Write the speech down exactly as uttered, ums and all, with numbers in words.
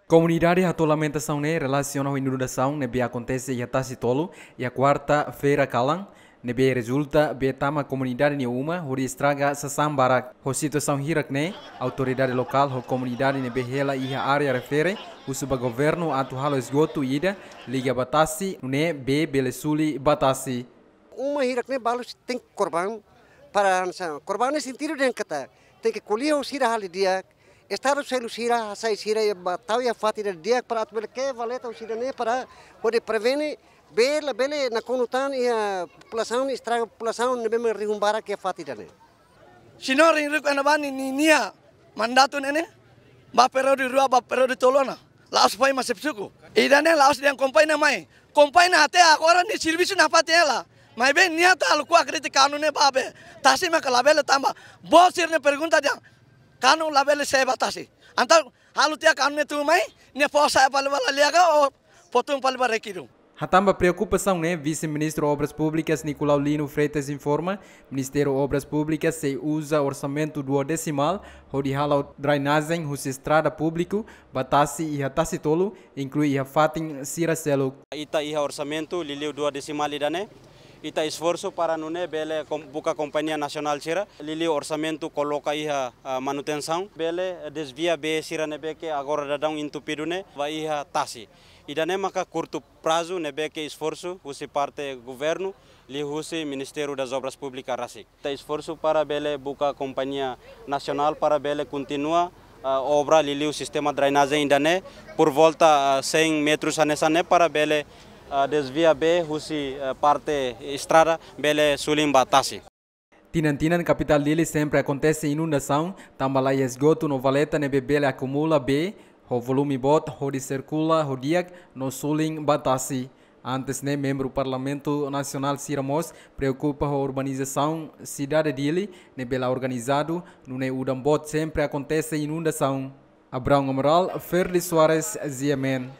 Komunidade hato'o lamentasaun ne'e relasiona ho inundasaun ne'ebé akontese iha Tasi Tolu, iha kuarta-feira kalan, ne'ebé rezulta bee tama komunidade nia uma hodi estraga sasán barak. Ho situasaun hirak ne'e, autoridade lokál ho komunidade ne'ebé hela iha área refere husu ba governu atu halo esgotu ida liga ba tasi, nune'e bee bele suli ba tasi. Uma hirak ne'e balu tenke korban para hanesan. Korban ne'e sentidu dehan katak tenke ko'alia ho sira halo di'ak, Estadu selu sira, hasai sira iha ba tau iha fatin ida di'ak para atu bele ke'e valeta husi ida-ne'e para hodi prevene bee labele nakonu tan iha populasaun, estraga populasaun ne'ebé mak rihun barak iha fatin ida-ne'e. Señór Henrique Anabani ninia mandatu ne'e ne'e, ba períodu rua, ba períodu tolu ona. La'ós foin mai xefe suku. Ida-ne'e la'ós dehan kompañia mai. Kompañia até agora nia servisu nafatin hela. Maibé nia atu halo kuak kritika kanu ne'e ba bee. Tasi maka labele tama. Boot sira-ne'e pergunta dehan, kanu labele sei ba tasi. Entaun halo tiha kanu ne'e tun mai, nia fó sa'e fali ba laliha ka ou fó tun fali ba rekidun. Hatán ba preokupasaun ne'e, Vise-Ministru Obras Públikas Nicolau Lino Freitas informa, Ministériu Obras Públikas sei uza orsamentu dua desimál hodi hala'o drenajen husi estrada públiku ba tasi iha Tasi Tolu, inklui iha fatin sira seluk. Ita iha orsamentu liuliu dua desimál ida-ne'e, ita esforsu para nune'e bele kom-, buka kompañia nasionál sira, liuliu orsamentu koloka iha, ah, manutensaun, bele, eh, desvia bee sira ne'ebé ke agora daudaun entupidu ne'e, ba iha tasi. Ida-ne'e maka kurtu prazu ne'ebé ke esforsu husi parte governu, liuhusi Ministériu das Obras Públikas rasik. Ita esforsu para bele buka kompañia nasionál para bele kontinua, ah, obra liuliu sistema drenajen ida-ne'e por volta, ah, cem metros hanesan ne'e para bele, ah, desvia bee husi, ah, parte estrada bele suli ba tasi. Tinan-tinan kapitál Dili sempre akontese inundasaun, tanba la iha esgotu no valeta ne'ebé bele akumula bee ho volume boot hodi sirkula ho di'ak no suli ba tasi. Antes ne'e, membru Parlamentu Nasionál sira mós preokupa ho urbanizasaun sidade Dili ne'ebé la organizadu, nune'e udan boot sempre akontese inundasaun. Abraão Amaral, Ferdi Soares, G M N.